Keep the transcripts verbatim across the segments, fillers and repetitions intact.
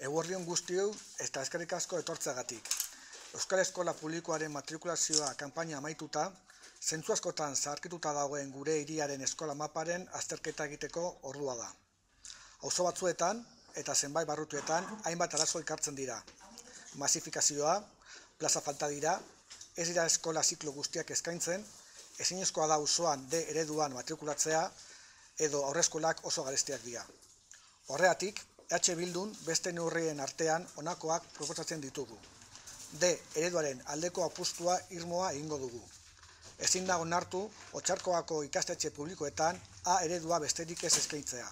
Eguerdi on guztioi eta eskerrik asko etortzeagatik. Euskal Eskola Publikoaren matrikulazioa kanpaina amaituta, zentzu askotan zaharkituta dagoen gure hiriaren eskola maparen azterketa egiteko ordua da. Auzo batzuetan eta zenbait barrutuetan hainbat arazo elkartzen dira. Masifikazioa, plaza falta dira, ez dira eskola ziklo guztiak eskaintzen, ezinezkoa da auzoan D ereduan matrikulatzea edo aurreskolak oso garestiak dira. Horregatik, H Bildun beste neurrien artean honakoak proposatzen ditugu. D ereduaren aldeko apustua irmoa egingo dugu. Ezin da onartu Otxarkoako ikastetxe publikoetan A eredua besterik ez eskaintzea.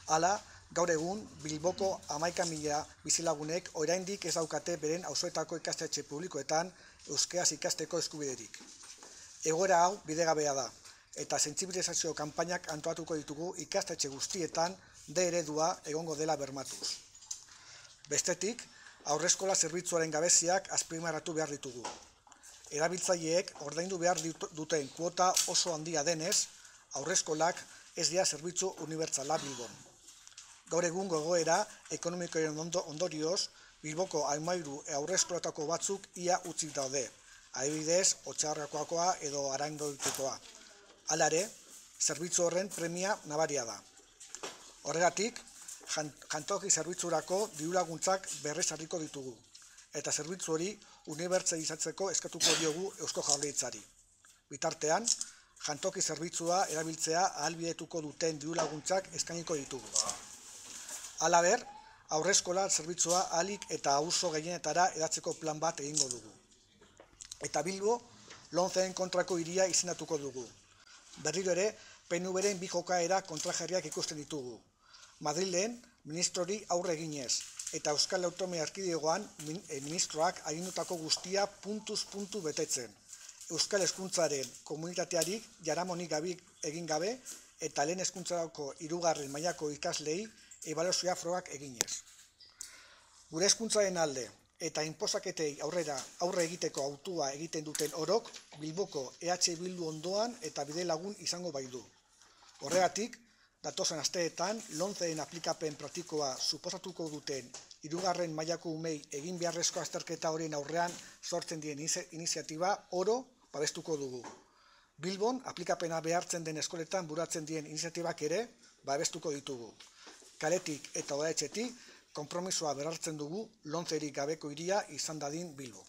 Hala, gaur egun Bilboko hamaika mila bizilagunek oraindik ez daukate beren auzoetako ikastetxe publikoetan euskaraz ikasteko eskubiderik. Egoera hau bidegabea da, eta sentsibilizazio kanpainak antolatuko ditugu ikastetxe guztietan D eredua egongo dela bermatuz. Bestetik, aurreskola zerbitzuaren gabeziak azpimarratu behar ditugu. Erabiltzaileek ordaindu behar duten kuota oso handia denez, aurreskolak ez dira zerbitzu unibertsala Bilbon. Gaur egun gogoera ekonomikoaren ondorioz, Bilboko hamairu aurreskolatako batzuk ia utzik daude, adibidez, Otxarkoakoa edo Arangoikoa. Hala ere, zerbitzu horren premia nabaria da. Horregatik, jantoki zerbitzurako dirulaguntzak berrezarriko ditugu, eta zerbitzu hori unibertsalizatzeko eskatuko diogu Eusko Jaurlaritzari. Bitartean, jantoki zerbitzua erabiltzea ahalbidetuko duten dirulaguntzak eskainiko ditugu. Halaber, aurreskola zerbitzua ahalik eta auzo gehienetara hedatzeko plan bat egingo dugu. Eta Bilbo, lomceren kontrako hiria izendatuko dugu. Berriro ere, P N V-ren bi jokaera kontrajarriak ikusten ditugu. Madrilen ministrori aurre eginez, eta Euskal Autonomia Erkidegoan ministroak agindutako guztia puntuz puntu betetzen. Euskal hezkuntzaren komunitateari jaramonik egin gabe eta lehen hezkuntzarako hirugarren mailako ikaslei ebaluazio frogak eginez. Gure hezkuntzaren alde eta inposaketei aurrera aurre egiteko hautua egiten duten orok Bilboko E H Bildu ondoan eta bide lagun izango baitu. Horregatik, datozen asteetan lomceren aplikapen praktikoa suposatuko duten hirugarren mailako umei egin beharrezko azterketa horien aurrean sortzen dien iniziatiba oro babestuko dugu. Bilbon aplikapena behartzen den eskoletan buratzen dien iniziatibak ere babestuko ditugu. Kaletik eta udaletxetik konpromisoa berhartzen dugu lomcerik gabeko hiria izan dadin Bilbo.